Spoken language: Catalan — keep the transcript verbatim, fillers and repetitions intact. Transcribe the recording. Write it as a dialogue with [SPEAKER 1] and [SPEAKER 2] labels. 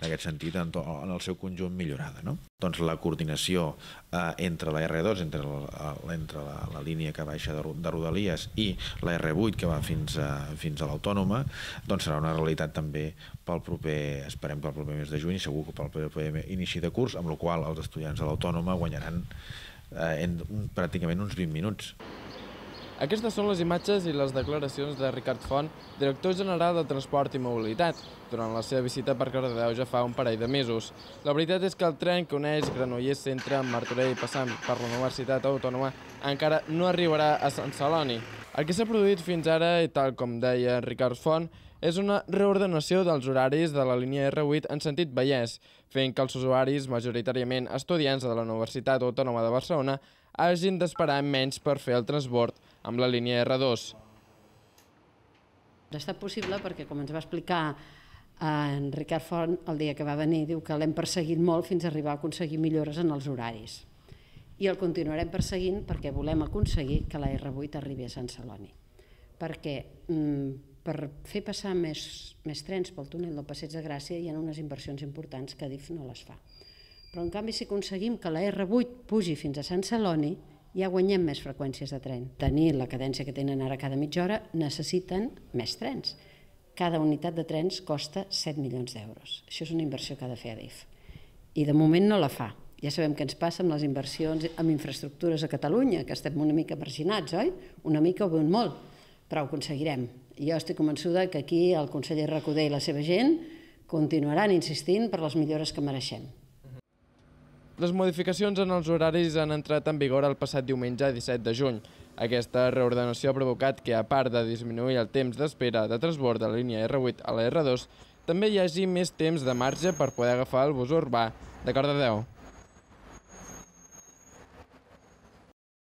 [SPEAKER 1] en aquest sentit, en el seu conjunt millorada. Doncs la coordinació entre la erre dos, entre la línia que baixa de Rodalies i la erre vuit que va fins a l'Autònoma, doncs serà una realitat també pel proper, esperem pel proper mes de juny i segur que pel proper inici de curs, amb la qual els estudiants de l'Autònoma guanyaran pràcticament uns vint minuts.
[SPEAKER 2] Aquestes són les imatges i les declaracions de Ricard Font, director general de Transport i Mobilitat, durant la seva visita per Cardedeu ja fa un parell de mesos. La veritat és que el tren que uneix Granollers Centre amb Martorell passant per la Universitat Autònoma encara no arribarà a Sant Celoni. El que s'ha produït fins ara, i tal com deia Ricard Font, és una reordenació dels horaris de la línia erre vuit en sentit Vallès, fent que els usuaris, majoritàriament estudiants de la Universitat Autònoma de Barcelona, hagin d'esperar menys per fer el transbord amb la línia erre dos.
[SPEAKER 3] Ha estat possible perquè, com ens va explicar en Ricard Font el dia que va venir, diu que l'hem perseguit molt fins a arribar a aconseguir millores en els horaris. I el continuarem perseguint perquè volem aconseguir que la erre vuit arribi a Sant Celoni. Perquè per fer passar més trens pel túnel del Passeig de Gràcia hi ha unes inversions importants que Adif no les fa. Però en canvi si aconseguim que la erre vuit pugi fins a Sant Celoni ja guanyem més freqüències de tren. Tenir la cadència que tenen ara cada mitja hora necessiten més trens. Cada unitat de trens costa set milions d'euros. Això és una inversió que ha de fer Adif. I de moment no la fa. Ja sabem què ens passa amb les inversions en infraestructures a Catalunya, que estem una mica marginats, oi? Una mica o ben molt, però ho aconseguirem. Jo estic convençuda que aquí el conseller Recoder i la seva gent continuaran insistint per les millores que mereixem.
[SPEAKER 2] Les modificacions en els horaris han entrat en vigor el passat diumenge disset de juny. Aquesta reordenació ha provocat que, a part de disminuir el temps d'espera de transbord de la línia erre vuit a la erre dos, també hi hagi més temps de marge per poder agafar el bus urbà de Cardedeu.